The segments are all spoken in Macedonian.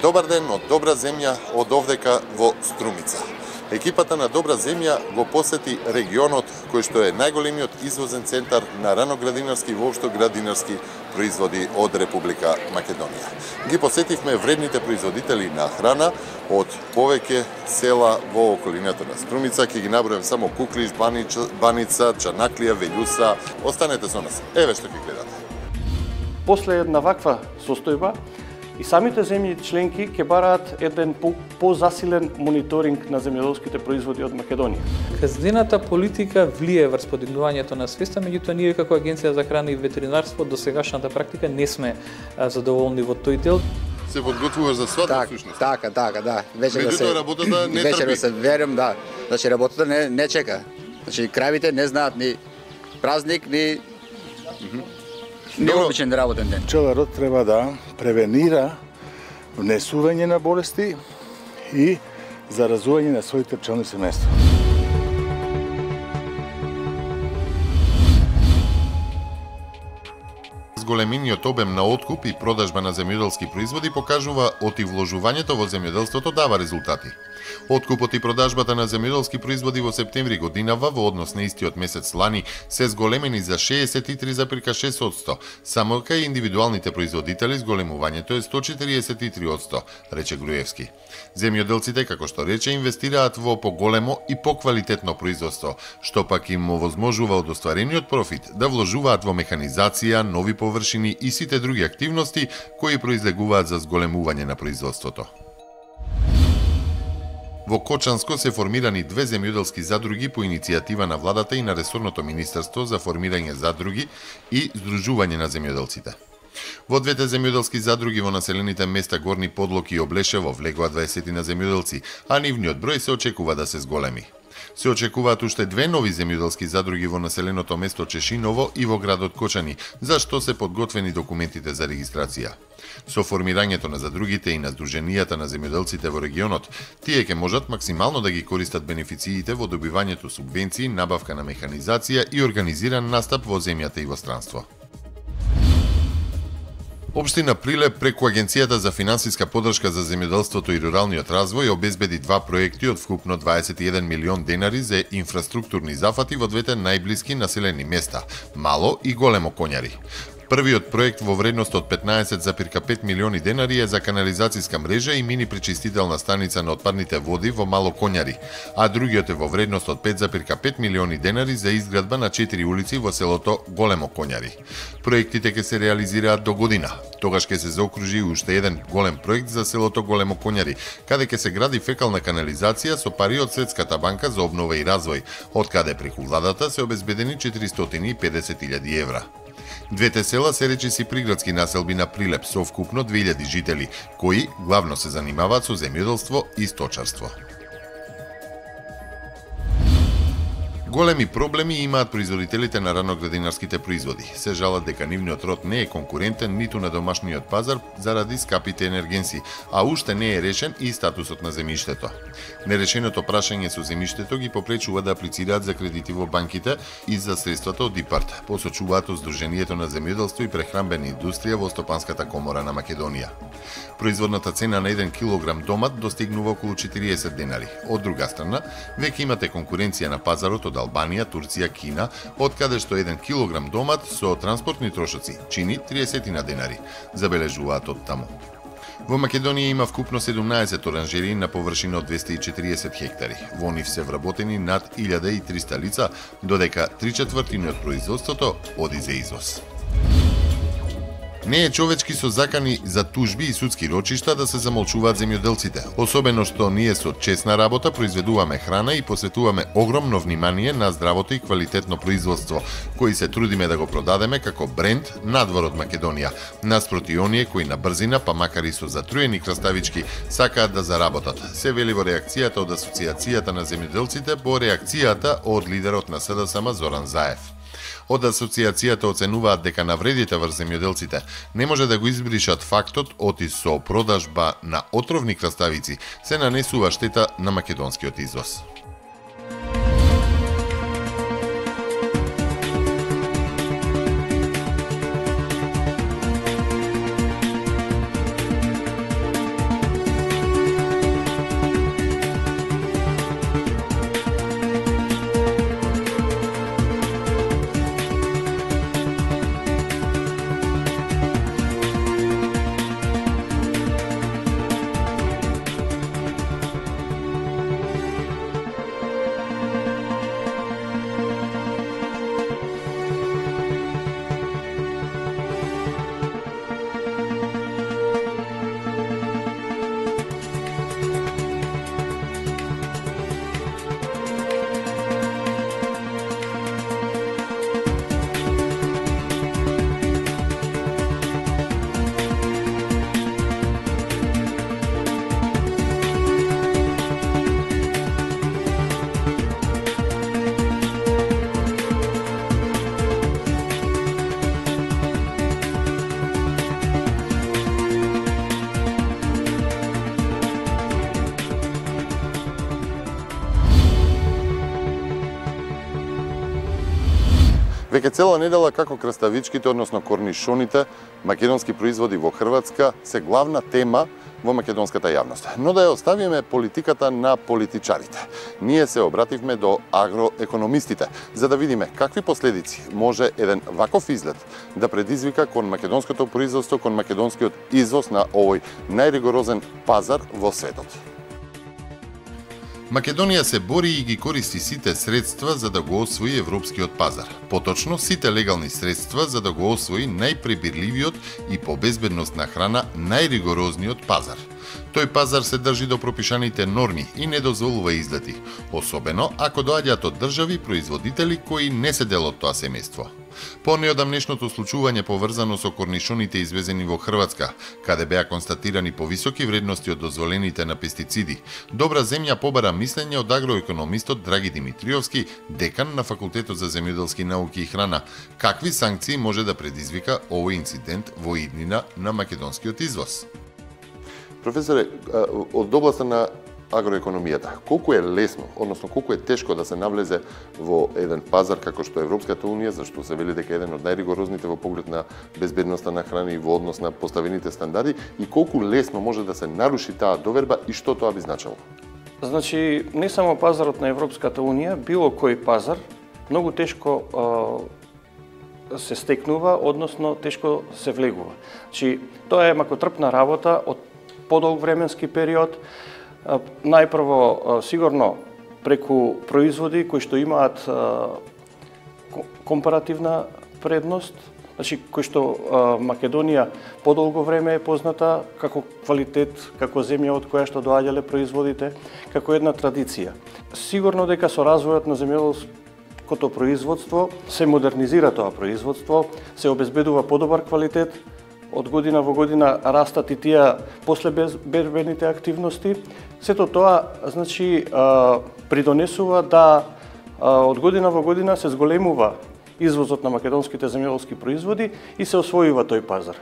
Добар ден од Добра земја од овдека во Струмица. Екипата на Добра земја го посети регионот кој што е најголемиот извозен центар на раноградинарски и воопшто градинарски производи од Република Македонија. Ги посетивме вредните производители на храна од повеќе села во околината на Струмица. Ќе ги набројам само Куклиш, Баница, Чанаклија, Велјуса. Останете со нас. Еве што ќе гледате. После една ваква состојба, и самите земји членки ќе бараат еден позасилен мониторинг на земјоделските производи од Македонија. Казнената политика влие врз подигнувањето на свеста, меѓутоа ние како Агенција за храна и ветеринарство до сегашната практика не сме задоволни во тој дел. Се подготвуваш за свадба всушност? Така, да. Меѓутоа работата не трпи. Вечер се верувам, да. Значи работата не чека. Значи кравите не знаат ни празник, ни необичен работен ден. Пчеларот треба да превенира внесување на болести и заразување на своите пчелни семејства. Големиниот обем на откуп и продажба на земјоделски производи покажува оти вложувањето во земјоделството дава резултати. Откупот и продажбата на земјоделски производи во септември годинава во однос на истиот месец лани се зголемени за 63,6%, само кај индивидуалните производители зголемувањето е 143%, рече Груевски. Земјоделците, како што рече, инвестираат во поголемо и поквалитетно производство, што пак им овозможува од остварениот профит да вложуваат во механизација, нови површини и сите други активности кои произлегуваат за зголемување на производството. Во Кочанско се формирани 2 земјоделски задруги по иницијатива на владата и на ресорното министерство за формирање задруги и здружување на земјоделците. Во двете земјоделски задруги во населените места Горни Подлоки и Облешево влегоа 20 на земјоделци, а нивниот број се очекува да се зголеми. Се очекуваат уште 2 нови земјоделски задруги во населеното место Чешиново и во градот Кочани, за што се подготвени документите за регистрација. Со формирањето на задругите и на здруженијата на земјоделците во регионот, тие ќе можат максимално да ги користат бенефициите во добивањето субвенции, набавка на механизација и организиран настап во земјата и во странство. Општина Прилеп преку Агенцијата за финансиска поддршка за земјоделството и руралниот развој обезбеди 2 проекти од вкупно 21 милион денари за инфраструктурни зафати во двете најблиски населени места – Мало и Големо Коњари. Првиот проект во вредност од 15,5 милиони денари е за канализацијска мрежа и мини пречистителна станица на отпадните води во Мало Коњари, а другиот е во вредност од 5,5 милиони денари за изградба на 4 улици во селото Големо Коњари. Проектите ќе се реализираат до година. Тогаш ќе се заокружи уште еден голем проект за селото Големо Коњари, каде ќе се гради фекална канализација со пари од Светската банка за обнова и развој, од каде преку владата се обезбедени 450.000 евра. Двете села се речиси приградски населби на Прилеп со вкупно 2000 жители, кои главно се занимаваат со земјоделство и сточарство. Големи проблеми имаат производителите на раноградинарските производи. Се жалат дека нивниот род не е конкурентен ниту на домашниот пазар заради скапите енергенси, а уште не е решен и статусот на земјиштето. Нерешеното прашање со земјиштето ги попречува да аплицираат за кредити во банките и за средствата од ИПАРД, посочуваат од Сдруженијето на земјоделство и прехранбена индустрија во Стопанската комора на Македонија. Производната цена на 1 килограм домат достигнува околу 40 денари. Од друга страна, веќе имате конкуренција на пазарот од Албанија, Турција, Кина, од каде што 1 килограм домат со транспортни трошоци чини 30 денари, забележуваат од таму. Во Македонија има вкупно 17 оранжерии на површина од 240 хектари. Во нив се вработени над 1300 лица, додека 3/4 од производството оди за извоз. Не е човечки со закани за тужби и судски рочишта да се замолчуваат земјоделците, особено што ние со честна работа произведуваме храна и посветуваме огромно внимание на здравото и квалитетно производство, кои се трудиме да го продадеме како бренд надвор од Македонија, наспроти оние кои на брзина, па макар и со затруени краставички, сакаат да заработат. Се вели во реакцијата од Асоциацијата на земјоделците по реакцијата од лидерот на СДСМ Зоран Заев. Од асоциацијата оценуваат дека навредите врз земјоделците не може да го избришат фактот оти со продажба на отровни краставици се нанесува штета на македонскиот извоз. Веќе цела недела како краставичките, односно корнишоните, македонски производи во Хрватска се главна тема во македонската јавност. Но да ја оставиме политиката на политичарите. Ние се обративме до агроекономистите, за да видиме какви последици може еден ваков изглед да предизвика кон македонското производство, кон македонскиот извоз на овој најригорозен пазар во светот. Македонија се бори и ги користи сите средства за да го освои европскиот пазар. Поточно, сите легални средства за да го освои најпребирливиот и по безбедност на храна најригорозниот пазар. Тој пазар се држи до пропишаните норми и не дозволува излети, особено ако доаѓаат од држави производители кои не се дел од тоа семејство. По неодамнешното случување поврзано со корнишоните извезени во Хрватска, каде беа констатирани повисоки вредности од дозволените на пестициди, добра земја побара мислење од агроекономистот Драги Димитриовски, декан на Факултетот за земјоделски науки и храна, какви санкции може да предизвика овој инцидент во иднина на македонскиот извоз. Професоре, од областа на агроекономијата, колку е лесно, односно колку е тешко да се навлезе во еден пазар како што е Европската унија, зашто се вели дека е еден од најригорозните во поглед на безбедноста на храна и во однос на поставените стандарди, и колку лесно може да се наруши таа доверба и што тоа би значило? Значи, не само пазарот на Европската унија, било кој пазар многу тешко се стекнува, односно тешко се влегува. Значи, тоа е макотрпна работа од подолг временски период. Најпрво, сигурно, преку производи кои што имаат компаративна предност, значи, кои што Македонија подолго време е позната како квалитет, како земја од која што доаѓале производите, како една традиција. Сигурно дека со развојот на земјоделското производство се модернизира тоа производство, се обезбедува подобар квалитет, од година во година растат и тие после бербените активности. Сето тоа, значи, придонесува да од година во година се зголемува извозот на македонските земјоделски производи и се освојува тој пазар.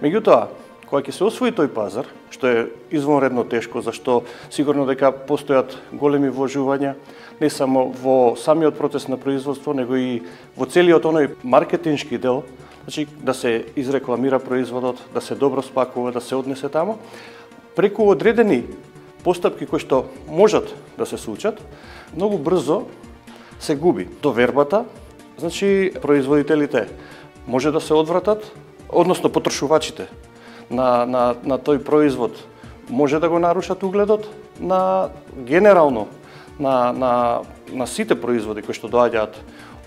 Меѓутоа, кога ќе се освои тој пазар, што е извонредно тешко, зашто сигурно дека постојат големи вложувања, не само во самиот процес на производство, него и во целиот оној маркетиншки дел, значи да се изрекламира производот, да се добро спакува, да се однесе тамо, преку одредени постапки кои што можат да се случат, многу брзо се губи довербата, значи производителите може да се одвратат, односно потрошувачите на тој производ може да го нарушат угледот на генерално на сите производи кои што доаѓаат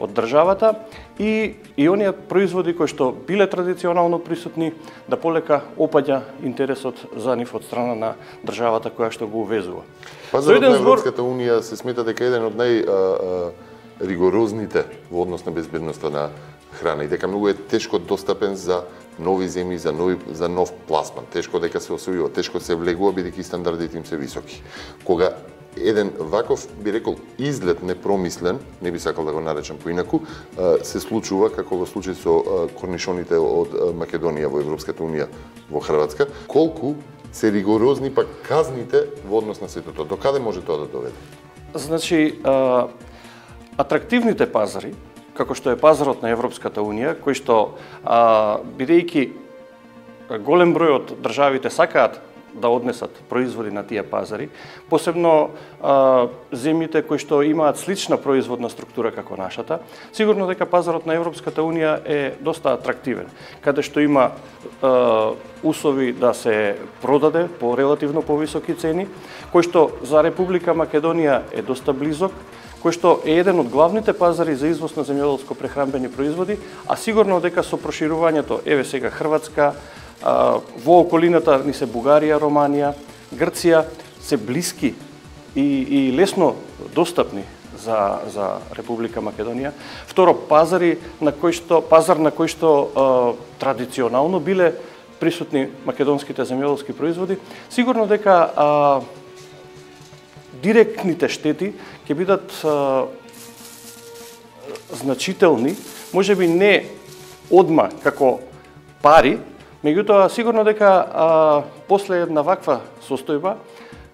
од државата и оние производи кои што биле традиционално присутни да полека опаѓа интересот за нив од страна на државата која што го увезува. Пазарот на Европската унија се смета дека е еден од најригорозните во однос на безбедноста на храна и дека многу е тешко достапен за нови земји, за нов пласман. Тешко дека се освојува, тешко се влегува бидејќи стандардите им се високи. Кога еден ваков, би рекол, изглед непромислен, не би сакал да го наречам поинаку, се случува како во случај со корнишоните од Македонија во Европската унија во Хрватска, колку се ригорозни пак казните во однос на сето тоа. До каде може тоа да доведе? Значи, атрактивните пазари, како што е пазарот на Европската унија, кој што, бидејќи голем број од државите сакаат да однесат производи на тие пазари, посебно земјите кои што имаат слична производна структура како нашата, сигурно дека пазарот на Европската унија е доста атрактивен, каде што има услови да се продаде по релативно повисоки цени, кој што за Република Македонија е доста близок, кој што е еден од главните пазари за извоз на земјоделско-прехранбени производи, а сигурно дека со проширувањето, еве сега Хрватска, во околината ни се Бугарија, Романија, Грција, се блиски и лесно достапни за Република Македонија. Второ, пазар на кој што традиционално биле присутни македонските земјоделски производи, сигурно дека директните штети ќе бидат значителни, можеби не одма како пари, меѓутоа сигурно дека после една ваква состојба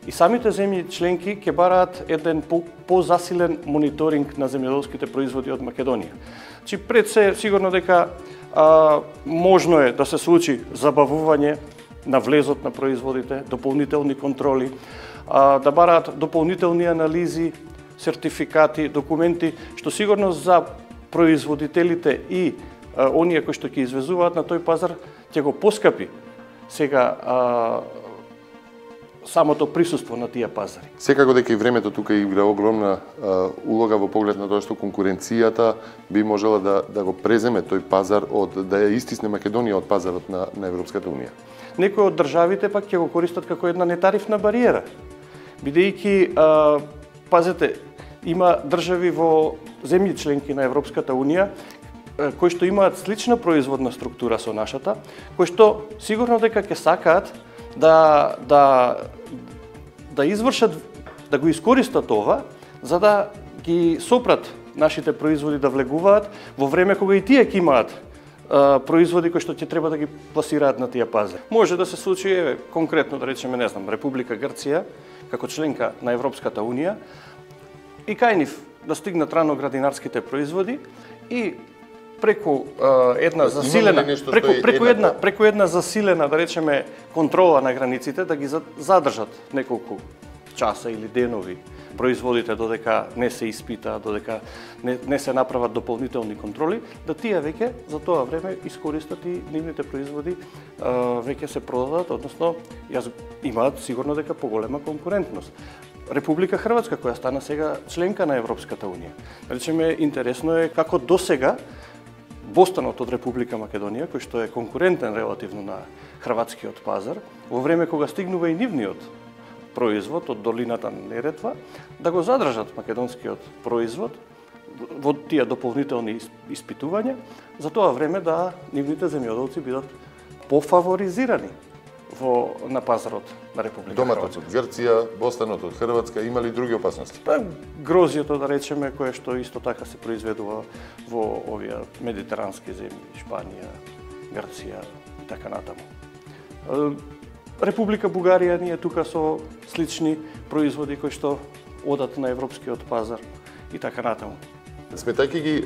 И самите земји членки ќе бараат еден позасилен мониторинг на земјоделските производи од Македонија. Значи пред се сигурно дека можно е да се случи забавување на влезот на производите, дополнителни контроли, да бараат дополнителни анализи, сертификати, документи, што сигурно за производителите и оние кои што ќе извезуваат на тој пазар ќе го поскапи сега самото присуство на тие пазари. Секако дека и времето тука игра огромна улога во поглед на тоа што конкуренцијата би можела да го преземе тој пазар да ја истисне Македонија од пазарот на Европската унија. Некои од државите пак ќе го користат како една нетарифна бариера, бидејќи пазете, има држави во земји членки на Европската унија кои што имаат слична производна структура со нашата, кои што сигурно дека ќе сакаат да извршат, да го искористат ова, за да ги сопрат нашите производи да влегуваат во време кога и тие ќе имаат производи кои што ќе треба да ги пласираат на тие пазари. Може да се случи, конкретно да речеме, не знам, Република Грција, како членка на Европската унија, и кај нив да стигнат раноградинарските производи и преку една засилена преку една засилена, да речеме, контрола на границите, да ги задржат неколку часа или денови производите додека не се испита, додека не се направат дополнителни контроли, да тие веќе за тоа време искористат и нивните производи веќе се продадат, односно имаат сигурно дека поголема конкурентност. Република Хрватска, која стана сега членка на Европската унија. Речеме, интересно е како досега Бостанот од Република Македонија, кој што е конкурентен релативно на хрватскиот пазар, во време кога стигнува и нивниот производ од долината на Неретва, да го задржат македонскиот производ во тие дополнителни испитувања, за тоа време да нивните земјоделци бидат пофаворизирани на пазарот на Република Хрватска. Доматот од Грција, Бостанот од Хрватска, има ли други опасности? Грозието, да речеме, кое што исто така се произведува во овие медитерански земји, Шпанија, Грција и така натаму. Република Бугарија ние тука со слични производи кои што одат на европскиот пазар и така натаму. Сметајќи ги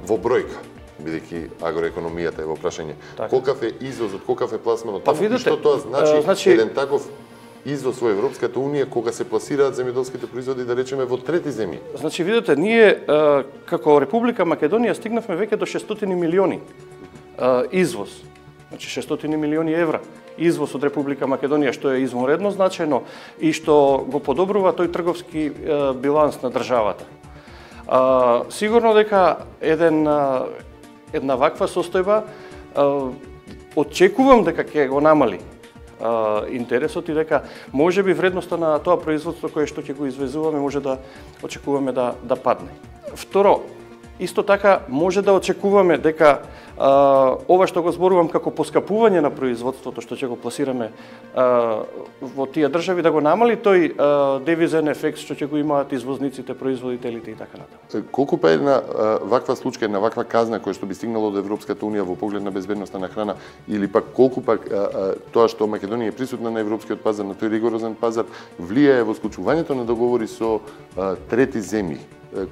во бројка, бидејќи агроекономијата е во прашање, колкав е извозот, колкав е пласманот, и што тоа значи еден таков извоз во Европската унија кога се пласираат земјоделските производи, да речеме, во трети земји? Значи, видите, ние како Република Македонија стигнавме веќе до 600 милиони извоз. Значи 600 милиони евра извоз од Република Македонија, што е извонредно значајно и што го подобрува тој трговски биланс на државата. Сигурно дека една ваква состојба очекувам дека ќе го намали интересот и дека можеби вредноста на тоа производство кое што ќе го извезуваме може да очекуваме да падне. Второ, исто така може да очекуваме дека ова што го зборувам како поскапување на производството што ќе го пласираме во тие држави, да го намали тој девизен ефект што ќе го имаат извозниците, производителите и така натаму. Колку па една ваква случка, една ваква казна која што би стигнала од Европската унија во поглед на безбедноста на храна, или пак колку пак тоа што Македонија е присутна на европскиот пазар, на тој ригорозен пазар, влијае во склучувањето на договори со трети земји?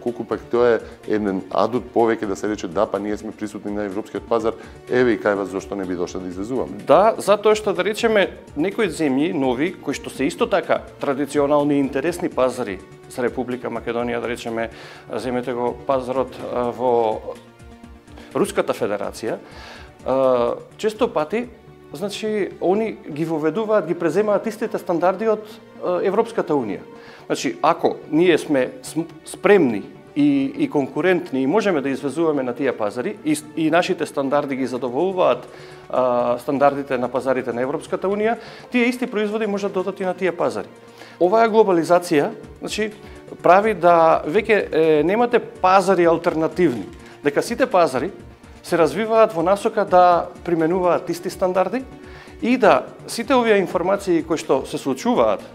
Колку пак тоа е еден адут повеќе да се рече да, па ние сме присутни на европскиот пазар, еве и кај вас зошто не би дошле да извезуваме? Да, затоа што, да речеме, некои земји нови кои што се исто така традиционални и интересни пазари за Република Македонија, да речеме, земете го пазарот во Руската Федерација, често пати, значи, они ги воведуваат, ги преземаат истите стандарди од Европската унија. Значи, ако ние сме спремни и конкурентни и можеме да извезуваме на тие пазари и нашите стандарди ги задоволуваат стандардите на пазарите на Европската унија, тие исти производи можат да одат и на тие пазари. Оваа глобализација, значи, прави да веќе немате пазари алтернативни, дека сите пазари се развиваат во насока да применуваат исти стандарди и да сите овие информации кои што се случуваат,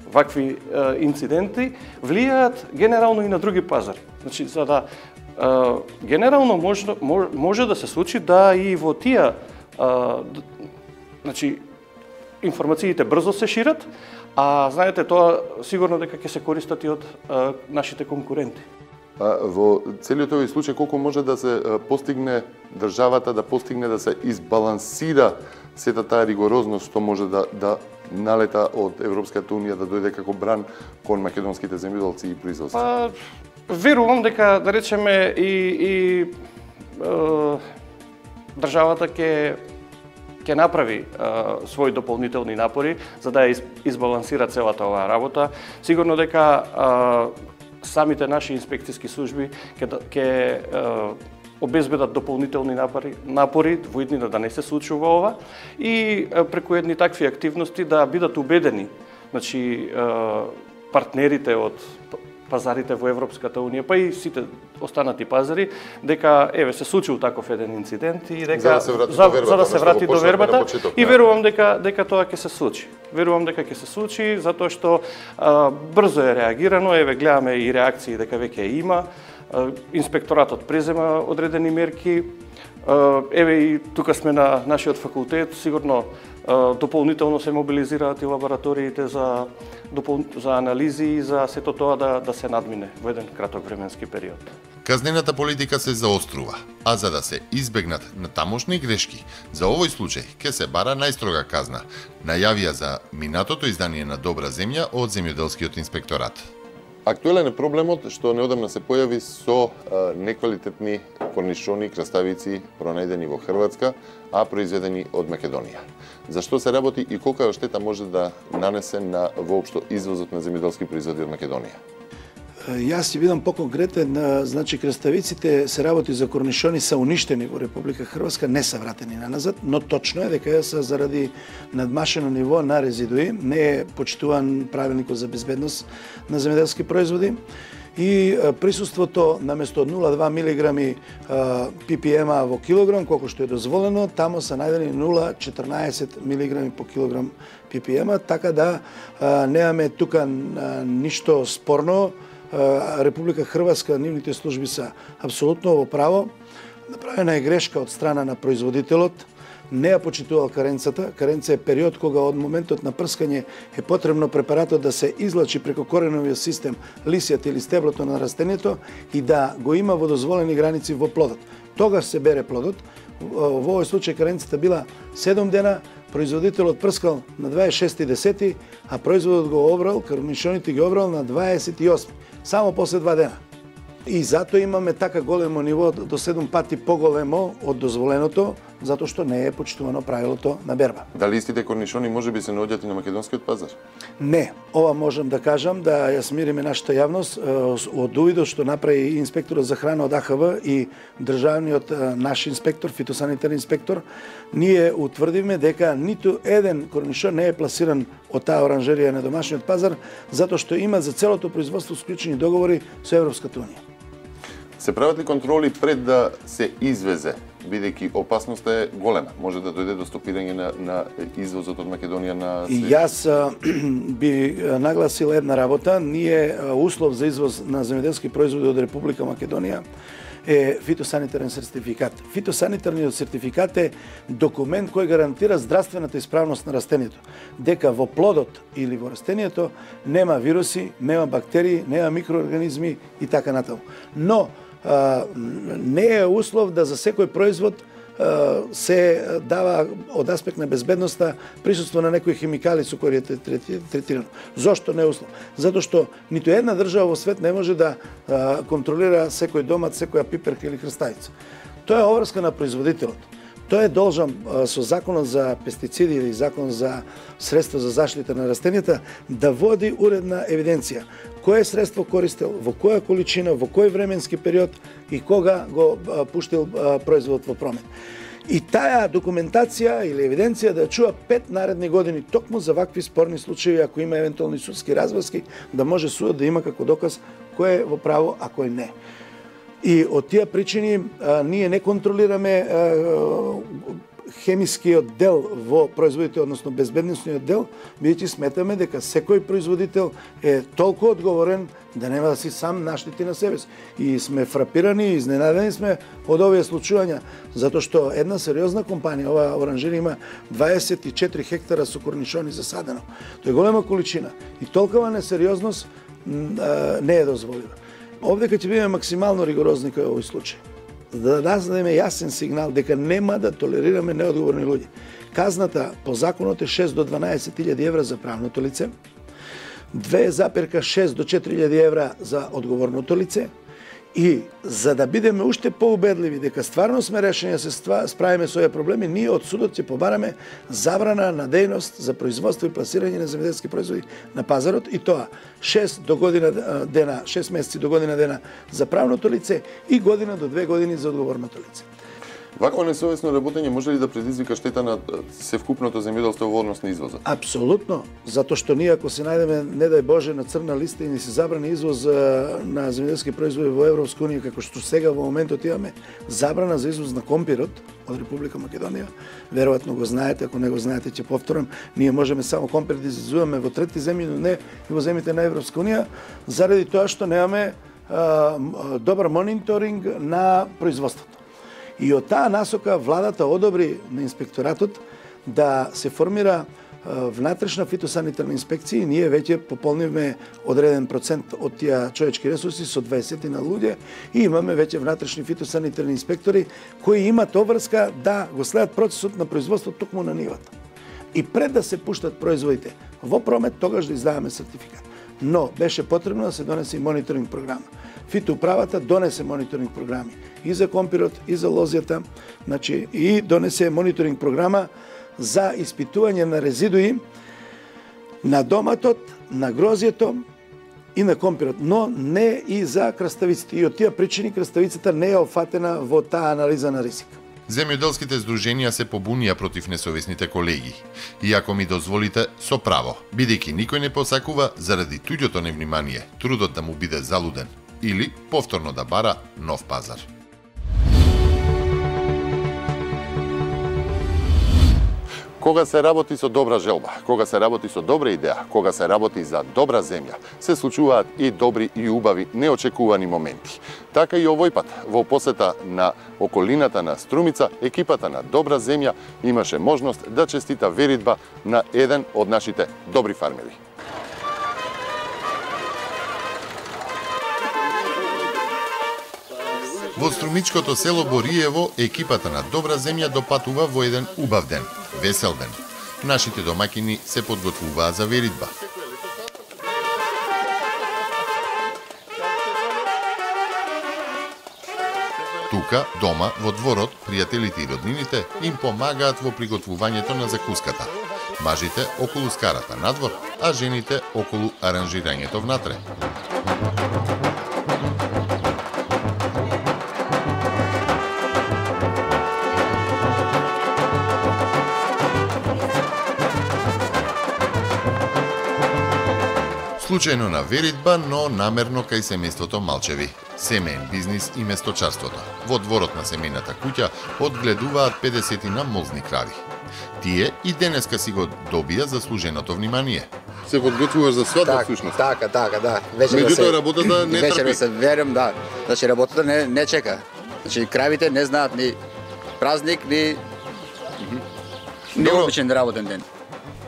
вакви инциденти, влијаат генерално и на други пазари. Значи, за да генерално може да се случи да и во тие значи, информациите брзо се шират, а знаете тоа сигурно дека ќе се користат и од нашите конкуренти. Во целиот овој случај колку може да се постигне државата да постигне да се избалансира сета таа ригорозност што може да налета од Европската унија да дојде како бран кон македонските земјоделци и производства? Верувам дека да речеме и државата ќе направи своји дополнителни напори за да ја избалансира целата оваа работа. Сигурно дека самите наши инспекцијски служби ќе обезбедат дополнителни напори во иднина да не се случува ова и преку едни такви активности да бидат убедени, значи партнерите од пазарите во Европската унија, па и сите останати пазари, дека се случил таков еден инцидент и дека за да се врати до вербата и верувам дека тоа ќе се случи. Верувам дека ќе се случи затоа што брзо е реагирано, гледаме и реакции дека веќе има. Инспекторатот презема одредени мерки. И тука сме на нашиот факултет, сигурно дополнително се мобилизираат и лабораториите за анализи и за сето тоа да се надмине во еден краток временски период. Казнената политика се заострува, а за да се избегнат натамошни грешки, за овој случај ќе се бара најстрога казна, најавија за минатото издание на Добра земја од земјоделскиот инспекторат. Актуелен е проблемот што неодамна се појави со неквалитетни корнишони, краставици пронајдени во Хрватска, а произведени од Македонија. Зашто се работи и колка штета може да нанесе на воопшто извозот на земјоделски производи од Македонија? Јас ќе бидам поконкретен, значи краставиците се работи за корнишони се уништени во Република Хрватска, не се вратени наназад, но точно е дека се заради надмашено ниво на резидуи, не е почитуван правилникот за безбедност на земјоделски производи и присуството наместо 0,2 мг ppm во килограм, колку што е дозволено, тамо се најдени 0,14 мг по килограм ppm, така да немаме тука ништо спорно. Република Хрватска, нивните служби се апсолутно во право. Направена е грешка од страна на производителот, не ја почитувал каренцата. Каренца е период кога од моментот на прскање е потребно препаратот да се излачи преку кореновиот систем, лисијата или стеблото на растението и да го има во дозволени граници во плодот. Тогаш се бере плодот. Во овој случај каренцата била 7 дена, производителот прскал на 26.10, а производот го обрал, корнишоните ги обрал на 28, само после 2 дена. И затоа имаме така големо ниво, до 7 пати поголемо од дозволеното, затоа што не е почитувано правилото на берба. Дали истите корнишони можеби се наоѓаат и на македонскиот пазар? Не, ова можам да кажам, да ја смириме нашата јавност од увидот што направи инспекторот за храна од АХВ и државниот наш инспектор, фитосанитарен инспектор, ние утврдивме дека ниту еден корнишон не е пласиран од таа оранжерија на домашниот пазар, затоа што има за целото производство склучени договори со Европската унија. Се прават ли контроли пред да се извезе, бидејќи опасноста е голема? Може да дојде до стопирање на извозот од Македонија на свет? И јас би нагласил една работа. Ние услов за извоз на земјоделски производи од Република Македонија е фитосанитарен сертификат. Фитосанитарниот сертификат е документ кој гарантира здравствената исправност на растението. Дека во плодот или во растението нема вируси, нема бактерии, нема микроорганизми и така натаму. Но не е услов да за секој производ се дава од аспект на безбедноста присуство на некои химикали со кои е третирано. Зошто не е услов? Затоа што ниту една држава во свет не може да контролира секој домат, секоја пиперка или крставица. Тоа е обврска на производителот. Тој е должен со законот за пестициди или закон за средства за заштита на растенијата да води уредна евиденција. Кое средство користел, во која количина, во кој временски период и кога го пуштил производот во промет. И таа документација или евиденција да чува 5 наредни години токму за вакви спорни случаи, ако има евентуални судски разврски, да може судот да има како доказ кој е во право, а кој не. И од тие причини ние не контролираме хемискиот дел во производите, односно безбедносниот дел, бидејќи сметаме дека секој производител е толку одговорен да нема да си сам наштити на себе си. И сме фрапирани и изненадени сме од овие случувања, затоа што една сериозна компанија, ова оранжерија има 24 хектара со корнишони засадено. Тоа е голема количина и толкова несериозност не е дозволена. Овде ќе бидеме максимално ригорозни кај овој случај, да дадеме јасен сигнал дека нема да толерираме неодговорни луѓе. Казната по законот е 6 до 12.000 евра за правното лице, 2,6 до 4.000 евра за одговорното лице, и за да бидеме уште поубедливи дека стварно сме решени да се справиме со овие проблеми, ние од судот ќе побараме забрана на дејност за производство и пласирање на земјоделски производи на пазарот, и тоа 6 месеци до година дена за правното лице и година до 2 години за одговорното лице. Вакво несовесно работење може ли да предизвика штета на севкупното земјоделство во однос на извозот? Апсолутно, затоа што ние ако се најдеме, не дај Боже, на црна листа и ни се забрани извоз на земјоделски производи во Европска унија, како што сега во моментот имаме забрана за извоз на компирот од Република Македонија, веројатно го знаете, ако не го знаете ќе повторам, ние можеме само компир да извозуваме во трети земји, но не и во земјите на Европска унија, заради тоа што немаме добар мониторинг на производството. И од таа насока владата одобри на инспекторатот да се формира внатрешна фитосанитарна инспекција и ние веќе пополнивме одреден процент од тие човечки ресурси со 20 на луѓе и имаме веќе внатрешни фитосанитарни инспектори кои имат обврска да го следат процесот на производство токму на нивата. И пред да се пуштат производите во промет, тогаш да издаваме сертификат. Но беше потребно да се донесе и мониторинг програма. Фитоуправата донесе мониторинг програми и за компирот, и за лозјата, значи и донесе мониторинг програма за испитување на резидуи на доматот, на грозјето и на компирот, но не и за краставиците. И од тие причини краставицата не е офатена во таа анализа на ризик. Земјоделските здруженија се побунија против несовесните колеги. И ако ми дозволите, со право, бидејќи никој не посакува заради туѓото невнимание, трудот да му биде залуден или повторно да бара нов пазар. Кога се работи со добра желба, кога се работи со добра идеја, кога се работи за добра земја, се случуваат и добри и убави неочекувани моменти. Така и овој пат, во посета на околината на Струмица, екипата на Добра земја имаше можност да честита веридба на еден од нашите добри фармери. Во струмичкото село Бориево, екипата на Добра земја допатува во еден убав ден, весел ден. Нашите домакини се подготвуваа за веридба. Тука, дома, во дворот, пријателите и роднините им помагаат во приготвувањето на закуската. Мажите околу скарата надвор, а жените околу аранжирањето внатре. Случајно на веридба, но намерно кај семејството Малчеви. Семеен бизнис и месточарството. Во дворот на семејната куќа одгледуваат 50 на молзни крави. Тие и денеска си го добија заслуженото внимание. Се подготвуваш за свадба всушност? Така, да. Меѓутоа работата не трпи. Вечер се верам, да. Значи работата не чека. Значи кравите не знаат ни празник, ни обичен работен ден.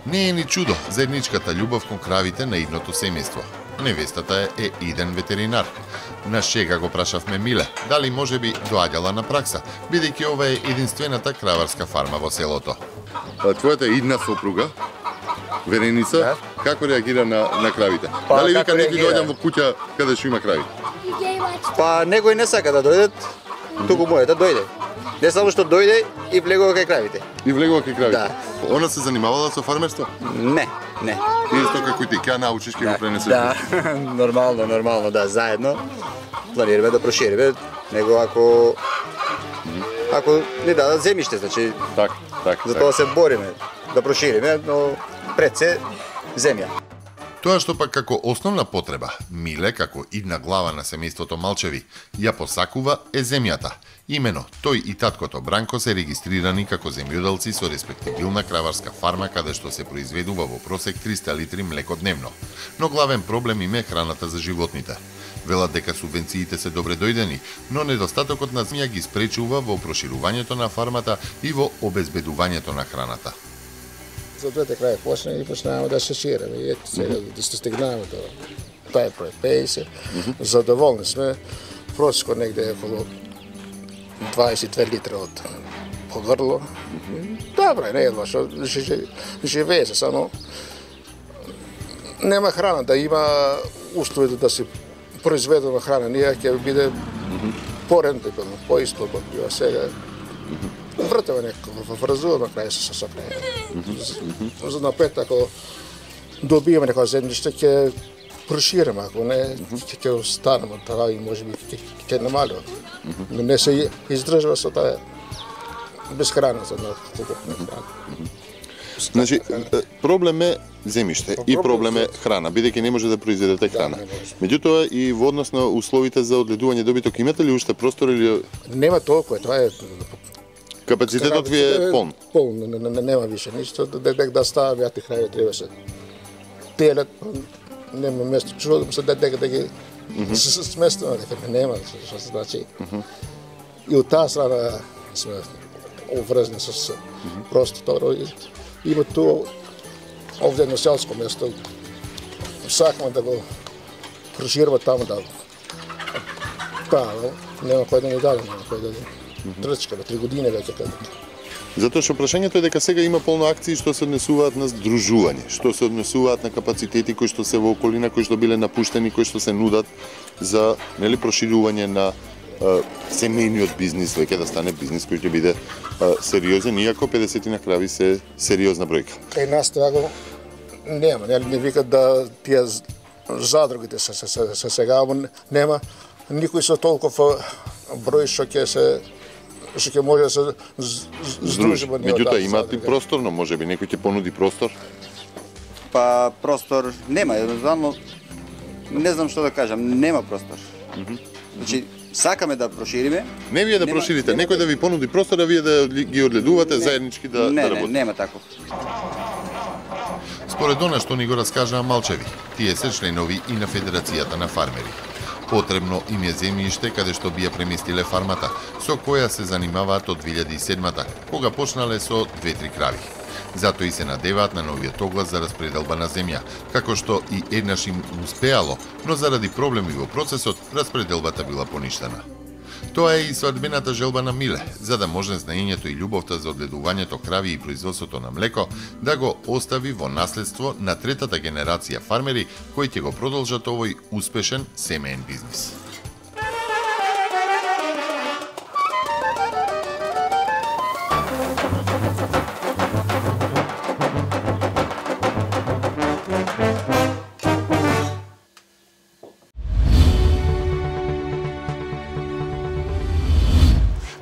Не е ни чудо заедничката љубов кон кравите на идното семејство. Невестата е иден ветеринар. На шега го прашавме Миле, дали можеби доаѓала на пракса, бидејќи ова е единствената краварска фарма во селото. Твојата идна сопруга, Вереница, како реагира на кравите? Дали вика некој доаѓам во куќа каде што има крави? Па некој не сака да дојдат, туку може да дојде. Не само што дојде и влегува кај кравите. И влегува кај кравите? Да. Она се занимавала со фармерство? Не. Исто како и ти, ќе научиш, ќе го пренесеш. Да, нормално, да, заедно планираме да прошириме, него ако не дадат земјиште, значи за тоа се бориме да прошириме, но пред се земја. Тоа што пак како основна потреба, Миле, како идна глава на семејството Малчеви, ја посакува е земјата. Имено, тој и таткото Бранко се регистрирани како земјоделци со респектибилна краварска фарма каде што се произведува во просек 300 литри млеко дневно. Но главен проблем им е храната за животните. Велат дека субвенциите се добре дојдени, но недостатокот на земја ги спречува во проширувањето на фармата и во обезбедувањето на храната. За двете крај почна и почнаваме да се ширеме. И ето сега да се стигнаме до тај проект 50. Задоволни сме. Просеко негде околу 22 литра од грло. Добре, не е лошо. Живее се, само нема храна, да има услови да се произведена храна. Ние ќе биде порентабилно, поисплатно бива сега. Вртеме некако, вразуваме крај се крај. За напред, ако добиеме некоја земјиште, ќе проширеме, ако не, ќе останеме така и може би ќе намалиме. Но не се издржува со таа без храна за неколку храна. Значи, проблем е земјиште и проблем е храна, бидејќи не може да произведете храна. Меѓутоа и во однос на условите за одледување добиток, имате ли уште простор или нема толку, тоа е капацитетот ви е полн? Полн, нема више ништо, да ставам јати крај треба се телет, нема место, чудам се дека да ги сместуваме, дека нема, што се значи. И од таа страна сме обврзани со просторо. Има тоа овде на селско место. Сакаме да го проширува таму да нема кој да ни даде, нема кој да трчкаме 3 години веќе како. Затоа што прашањето е дека сега има полно акции што се однесуваат на здружување, што се однесуваат на капацитети кои што се во околина, кои што биле напуштени, кои што се нудат за проширување на семејниот бизнис, веќе да стане бизнис кој ќе биде сериозен, иако 50 на крави се сериозна бројка. Кај нас тоа го нема, не викат да тие задрогите се сега, нема никој со толков број што ќе може да се здружиме. Меѓутоа имате и просторно, можеби некој ќе понуди простор? Па простор нема, едноставно не знам што да кажам, нема простор. Значи сакаме да прошириме. Не вие да проширите, некој да ви понуди простор, а вие да ги одледувате заеднички да работите. Не, нема таков. Според она што ни го раскажаа Малчеви, тие се членови и на Федерацијата на фармери. Потребно им е земјиште каде што би ја преместиле фармата, со која се занимаваат од 2007-та, кога почнале со 2-3 крави. Затоа и се надеваат на новиот оглас за распределба на земја, како што и еднаш им успеало, но заради проблеми во процесот, распределбата била поништена. Тоа е и свадбената желба на Миле, за да може знаењето и љубовта за одледувањето крави и производството на млеко да го остави во наследство на третата генерација фармери кои ќе го продолжат овој успешен семеен бизнис.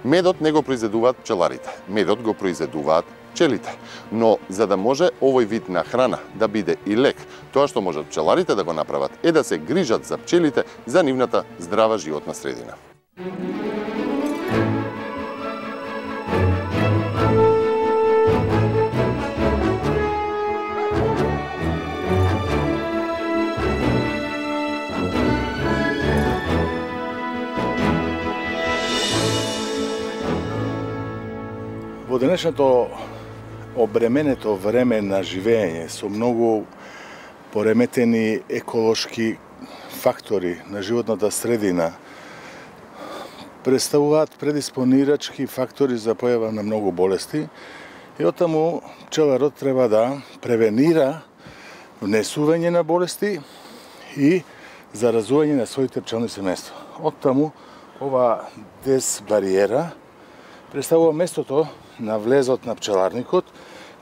Медот не го произведуваат пчеларите, медот го произведуваат пчелите. Но за да може овој вид на храна да биде и лек, тоа што можат пчеларите да го направат е да се грижат за пчелите за нивната здрава животна средина. Во денешното обременето време на живење со многу пореметени еколошки фактори на животната средина представуваат предиспонирачки фактори за појава на многу болести и оттаму пчеларот треба да превенира внесување на болести и заразување на своите пчелни семејства. Оттаму ова дезбариера представува местото на влезот на пчеларникот,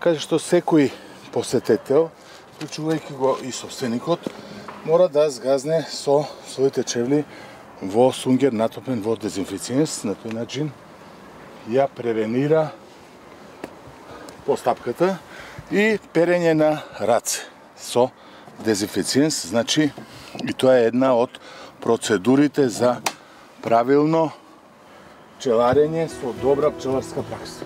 каде што секој посетител, вклучувајќи го и собственикот, мора да згазне со своите чевли во сунгер натопен во дезинфициенс, на тој начин ја превенира постапката и перење на раце со дезинфициенс, значи и тоа е една од процедурите за правилно пчеларење со добра пчеларска пракса.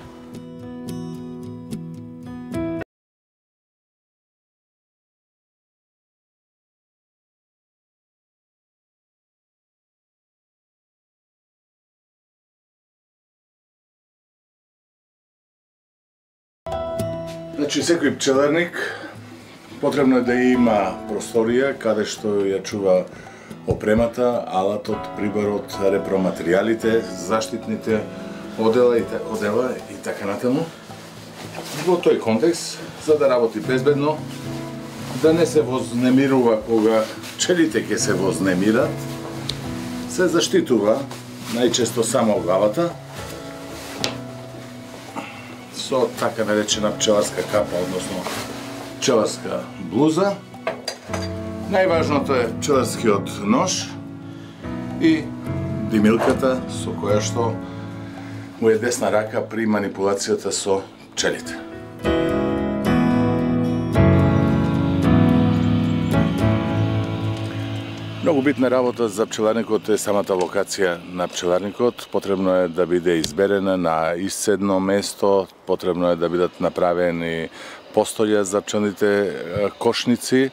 Значи, секој пчеларник потребно е да има просторија каде што ја чува опремата, алатот, приборот, репроматеријалите, заштитните одела и така натаму. Во тој контекст, за да работи безбедно, да не се вознемирува кога пчелите ќе се вознемират, се заштитува најчесто само главата со така наречена пчеларска капа, односно пчеларска блуза. Најважното е пчеларскиот нож и димилката со која што му е десна рака при манипулацијата со пчелите. Многу битна работа за пчеларникот е самата локација на пчеларникот. Потребно е да биде изберена на исцедно место, потребно е да бидат направени постолја за пчелните кошници,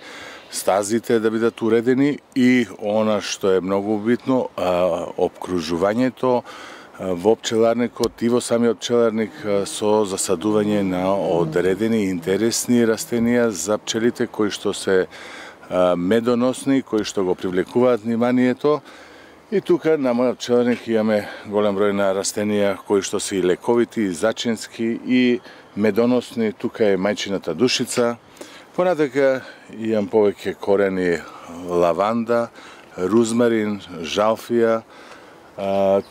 стазите да бидат уредени и она што е многу битно, опкружувањето во пчеларникот и во самиот пчеларник со засадување на одредени интересни растенија за пчелите кои што се медоносни, кои што го привлекуваат вниманието. И тука на мојот пчеларник имаме голем број на растенија кои што се и лековити, и зачински, и медоносни. Тука е мајчината душица. Понатака имам повеќе корени лаванда, рузмарин, жалфија.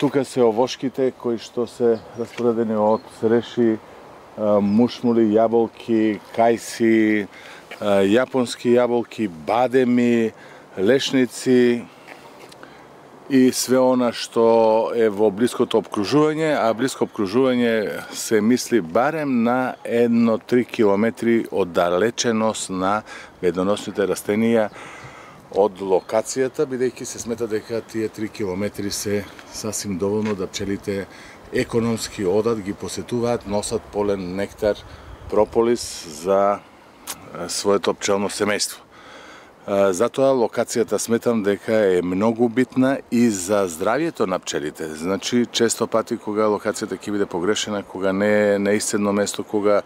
Тука се овошките кои што се распоредени од цреши, мушмули, јаболки, кајси, јапонски јаболки, бадеми, лешници и све она што е во блиското обкружување, а блиско обкружување се мисли барем на 1-3 километри оддалеченост на медоносните растенија од локацијата, бидејќи се смета дека тие 3 километри се сасим доволно да пчелите економски одат, ги посетуваат, носат полен, нектар, прополис за своето пчелно семејство. Затоа локацијата сметам дека е многу битна и за здравјето на пчелите. Значи, често пати кога локацијата ќе биде погрешена, кога не е на исцедно место, кога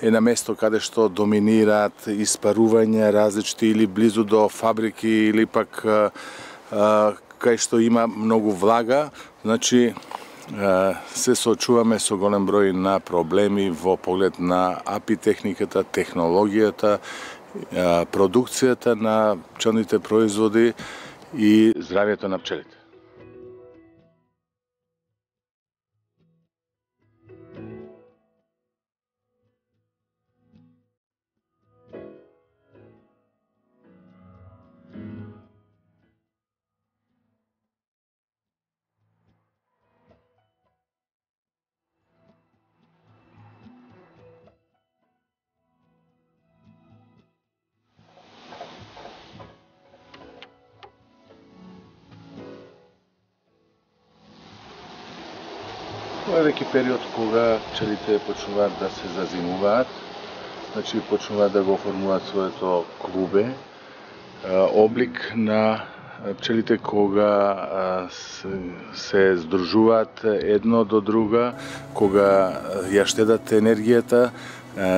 е на место каде што доминираат испарувања различити или близу до фабрики или пак кај што има многу влага, значи се соочуваме со голем број на проблеми во поглед на апитехниката, технологијата, продукцијата на пчелните производи и здравјето на пчелите. Тоа е веќе период кога пчелите почнуваат да се зазимуваат, значи почнуваат да го оформуваат своето клубе, облик на пчелите кога се здружуваат едно до друга, кога ја штедат енергијата,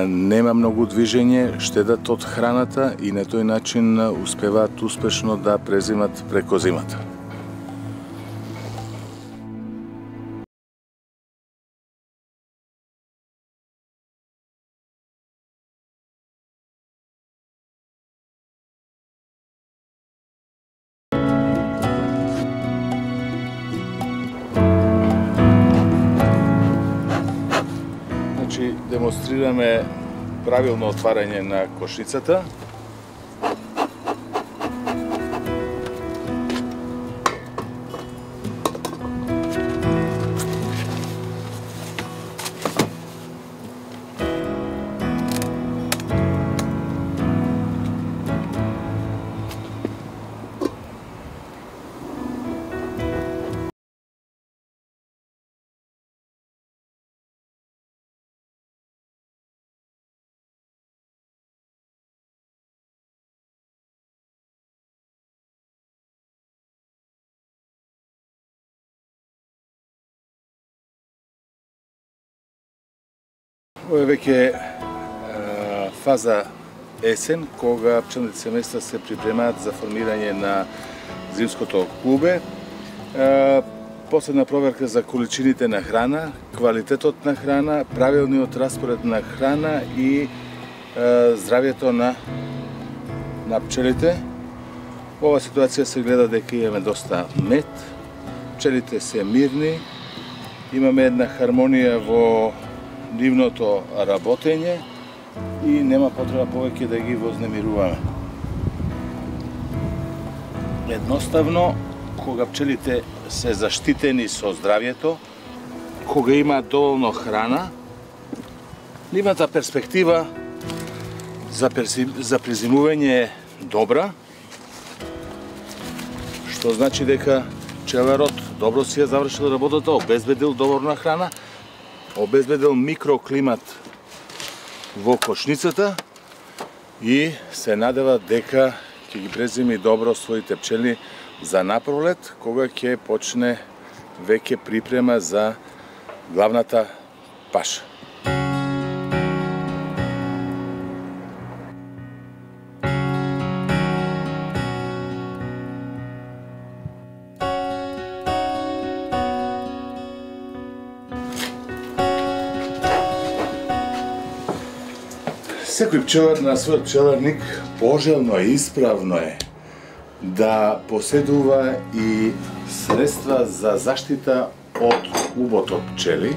нема многу движење, штедат од храната и на тој начин успеваат успешно да презимат преко зимата. Демонстрираме правилно отварање на кошницата. Ова е веќе фаза есен, кога пчелните семејства се припремаат за формирање на зимското клубе. Последна проверка за количините на храна, квалитетот на храна, правилниот распоред на храна и здравјето на пчелите. Ова ситуација се гледа дека имаме доста мед, пчелите се мирни, имаме една хармонија во нивното работење и нема потреба повеќе да ги вознемируваме. Едноставно, кога пчелите се заштитени со здравјето, кога има доволно храна, нивната перспектива за презимување е добра, што значи дека пчеларот добро си ја завршил работата, обезбедил доволна храна, обезбедил микроклимат во кошницата и се надева дека ќе ги презими добро своите пчели за напролет, кога ќе почне веќе припрема за главната паша. Секој пчелар на својот пчеларник пожелно и исправно е да поседува и средства за заштита од убот од пчели,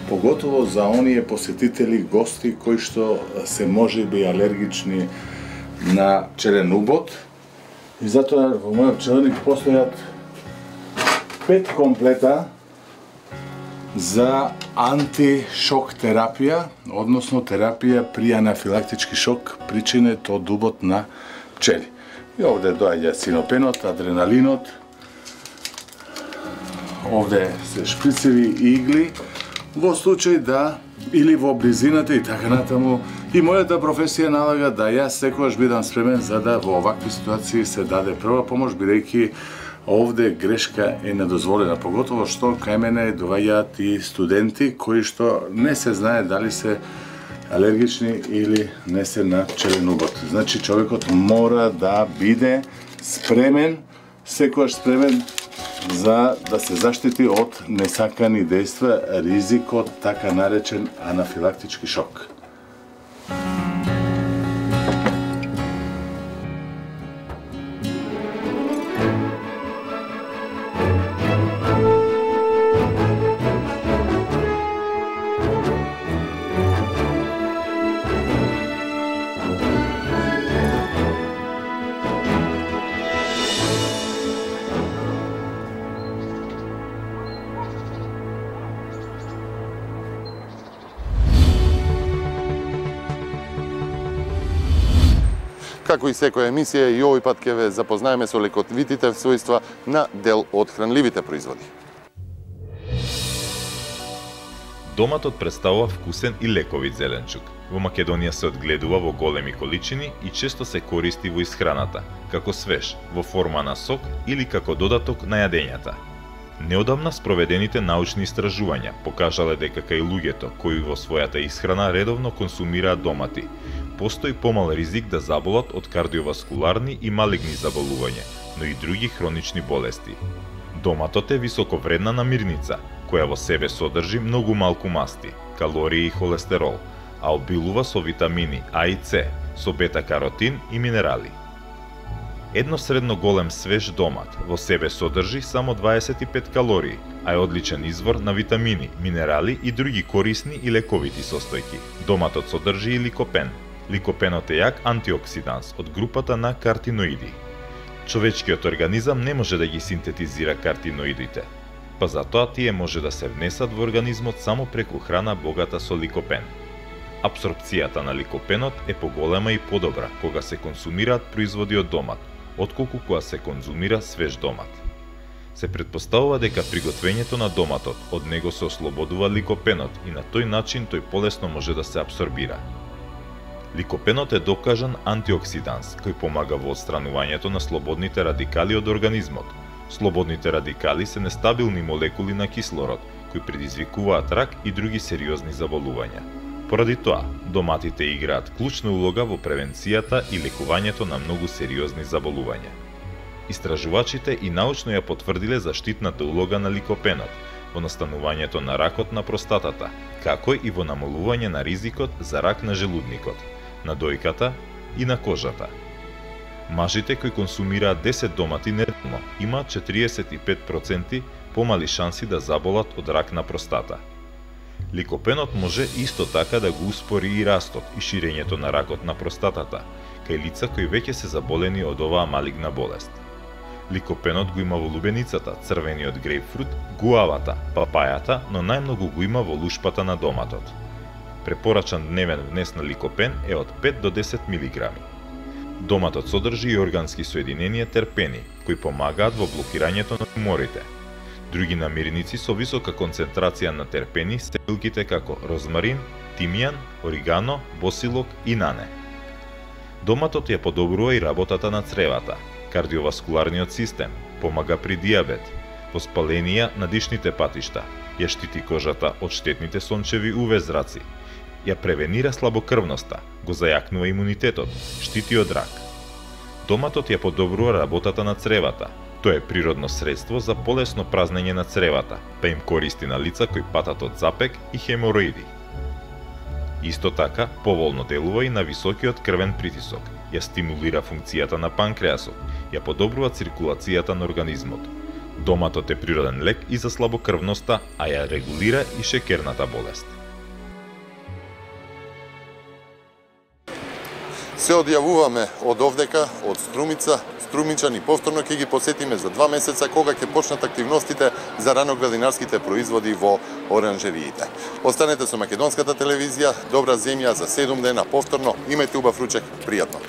поготово за оние посетители, гости кои што се можеби алергични на пчелен убот. И затоа во мојот пчеларник постојат 5 комплета за антишок терапија, односно терапија при анафилактички шок причинет од убот на пчели. И овде доаѓа синопенот, адреналинот, овде се шприцеви игли, во случај да или во близината и така натаму. И мојата професија налага да јас секогаш бидам спремен за да во овакви ситуации се даде прва помош, бидејќи овде грешка е недозволена, поготово што кај мене доаѓаат и студенти кои што не се знае дали се алергични или не се на пчелен убот. Значи човекот мора да биде спремен, секогаш спремен за да се заштити од несакани дејства, ризикот така наречен анафилактички шок. Како и секоја емисија, и овој пат ќе ве запознаеме со лековитите својства на дел од хранливите производи. Доматот представува вкусен и лековит зеленчук. Во Македонија се одгледува во големи количини и често се користи во исхраната, како свеж, во форма на сок или како додаток на јадењата. Неодамна спроведените научни истражувања покажале дека кај луѓето кои во својата исхрана редовно консумираат домати, постои помал ризик да заболат од кардиоваскуларни и малигни заболувања, но и други хронични болести. Доматот е високовредна намирница, која во себе содржи многу малку масти, калории и холестерол, а обилува со витамини А и С, со бета-каротин и минерали. Едно средно голем свеж домат во себе содржи само 25 калории, а е одличен извор на витамини, минерали и други корисни и лековити состојки. Доматот содржи и ликопен. Ликопенот е јак антиоксиданс од групата на картиноиди. Човечкиот организам не може да ги синтетизира картиноидите, па затоа тие може да се внесат во организмот само преку храна богата со ликопен. Апсорпцијата на ликопенот е поголема и подобра кога се консумираат производи од домат, отколку кога се конзумира свеж домат. Се претпоставува дека при готвењето на доматот од него се ослободува ликопенот и на тој начин тој полесно може да се апсорбира. Ликопенот е докажан антиоксиданс, кој помага во отстранувањето на слободните радикали од организмот. Слободните радикали се нестабилни молекули на кислород, кои предизвикуваат рак и други сериозни заболувања. Поради тоа, доматите играат клучна улога во превенцијата и лекувањето на многу сериозни заболувања. Истражувачите и научно ја потврдиле заштитната улога на ликопенот во настанувањето на ракот на простатата, како и во намалување на ризикот за рак на желудникот, на дојката и на кожата. Мажите кои консумираат 10 домати неделно имаат 45% помали шанси да заболат од рак на простата. Ликопенот може исто така да го успори и растот и ширењето на ракот на простатата кај лица кои веќе се заболени од оваа малигна болест. Ликопенот го има во лубеницата, црвениот грейпфрут, гуавата, папајата, но најмногу го има во лушпата на доматот. Препорачан дневен внес на ликопен е од 5 до 10 мг. Доматот содржи и органски соединенија терпени, кои помагаат во блокирањето на туморите. Други намирници со висока концентрација на терпени се билките како розмарин, тимјан, оригано, босилок и нане. Доматот ја подобрува и работата на цревата, кардиоваскуларниот систем, помага при диабет, воспаленија на дишните патишта, ја штити кожата од штетните сончеви UV зраци, ја превенира слабокрвноста, го зајакнува имунитетот, штити од рак. Доматот ја подобрува работата на цревата. Тоа е природно средство за полесно празнење на цревата, па им користи на лица кои патат од запек и хемороиди. Исто така, поволно делува и на високиот крвен притисок, ја стимулира функцијата на панкреасот, ја подобрува циркулацијата на организмот. Доматот е природен лек и за слабокрвноста, а ја регулира и шекерната болест. Се одјавуваме од овдека, од Струмица. Струмичани повторно ќе ги посетиме за 2 месеца кога ќе почнат активностите за раноградинарските производи во оранжериите. Останете со македонската телевизија, добра земја за 7 дена повторно. Имајте убав ручек, пријатно.